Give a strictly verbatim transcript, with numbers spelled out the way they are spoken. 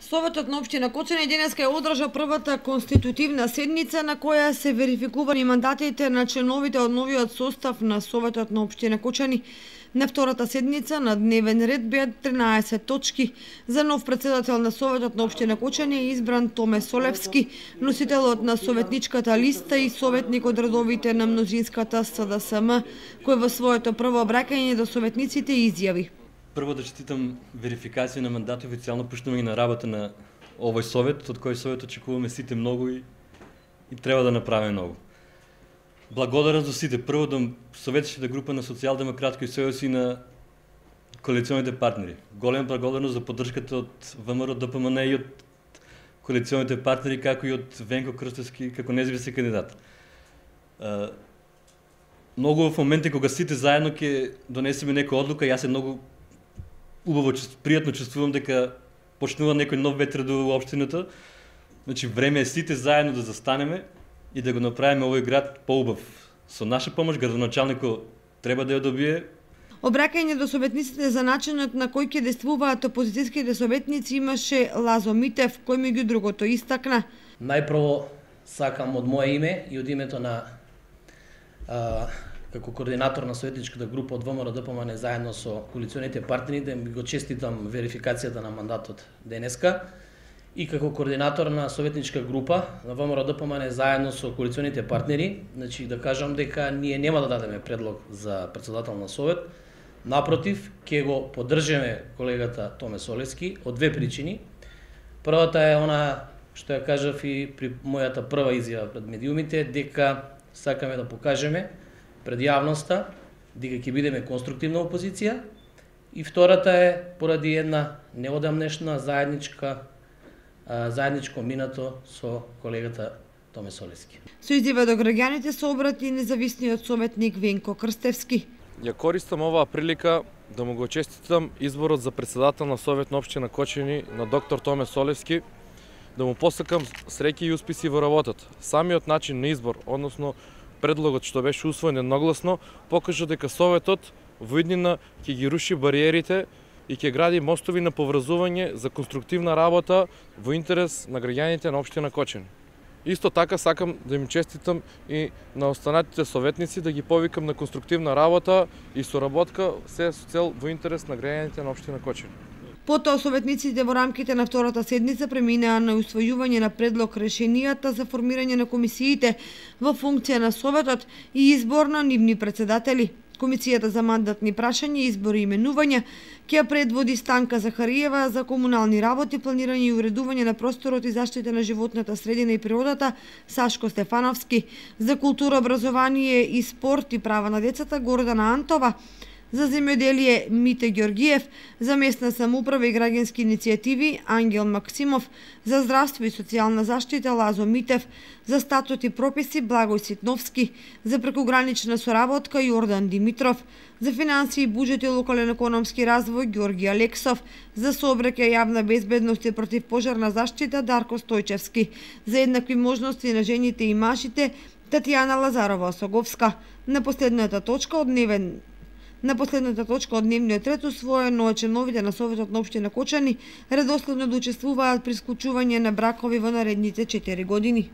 Советот на општина Кочани денеска ја одржа првата конститутивна седница на која се верификувани мандатите на членовите од новиот состав на Советот на општина Кочани. На втората седница на дневен ред беа тринаесет точки. За нов председател на Советот на општина Кочани е избран Томе Солевски, носителот на советничката листа и советник од редовите на мнозинската С Д С М, кој во своето прво обраќање до советниците изјави: Прво да честитам верификација на мандат и официјално пуштување на работа на овој совет, од кој совет очекуваме сите многу и, и треба да направиме многу. Благодарност до сите, прво до советската група на Социјалдемократски сојуз и на коалиционите партнери. Голема благодарност за поддршката од В М Р Д П М Н и од коалиционите партнери, како и од Венко Крстевски како независен кандидат. Многу во моменти кога сите заедно ќе донесеме некоја одлука, јас се многу убаво, пријатно чувствувам дека почнува некој нов ветер до општината. Значи време е сите заедно да застанеме и да го направиме овој град поубав. Со наша помош градоначалникот треба да ја добие. Обраќање до советниците за начинот на кој ќе действуваат опозицијските советници имаше Лазо Митев, кој меѓу другото истакна: Најпрво сакам од мое име и од името на а, како координатор на советничката група од В М Р Д П М Н заедно со коалиционите партнери да ми го честитам верификацијата на мандатот денеска, и како координатор на советничка група на В М Р Д П М Н заедно со коалиционите партнери, значи да кажам дека ние нема да дадеме предлог за председател на совет. Напротив, ќе го поддржиме колегата Томе Солевски од две причини. Првата е она што ја кажав и при мојата прва изјава пред медиумите, дека сакаме да покажеме пред јавноста дека ќе бидеме конструктивна опозиција, и втората е поради една неодамнешна заедничка заедничко минато со колегата Томе Солевски. Со изјава до граѓаните се обрати независниот советник Венко Крстевски. Ја користам оваа прилика да му го честитам изборот за председател на Совет на општина Кочани на доктор Томе Солевски, да му посакам среќа и успеси во работата. Самиот начин на избор, односно предлогот што беше усвоен едногласно, покажа дека Советот во иднина ќе ги руши бариерите и ќе гради мостови на поврзување за конструктивна работа во интерес на граѓаните на општина Кочани. Исто така сакам да им честитам и на останатите советници, да ги повикам на конструктивна работа и соработка, се со цел во интерес на граѓаните на општина Кочани. Потоа советниците во рамките на втората седница преминаа на усвојување на предлог решенијата за формирање на комисиите во функција на Советот и избор на нивни председатели. Комисијата за мандатни прашања, избори и именувања ќе ја предводи Станка Захариева, за комунални работи, планирање и уредување на просторот и заштита на животната средина и природата Сашко Стефановски, за култура, образование и спорт и права на децата Гордана Антова, за земјоделие Мите Ѓоргиев, за местна самоуправа и граѓански иницијативи Ангел Максимов, за здравство и социјална заштита Лазо Митев, за статут и прописи Благој Ситновски, за прекугранична соработка Јордан Димитров, за финансии и буџет и локален економски развој Ѓорги Алексов, за сообраќај, јавна безбедност и противпожарна заштита Дарко Стојчевски, за еднакви можности на жените и мажите Татјана Лазарова Осоговска. На последната точка од дневен На последната точка од дневниот ред усвоено е членовите на Советот на општина Кочани редоследно да учествуваат при склучување на бракови во наредните четири години.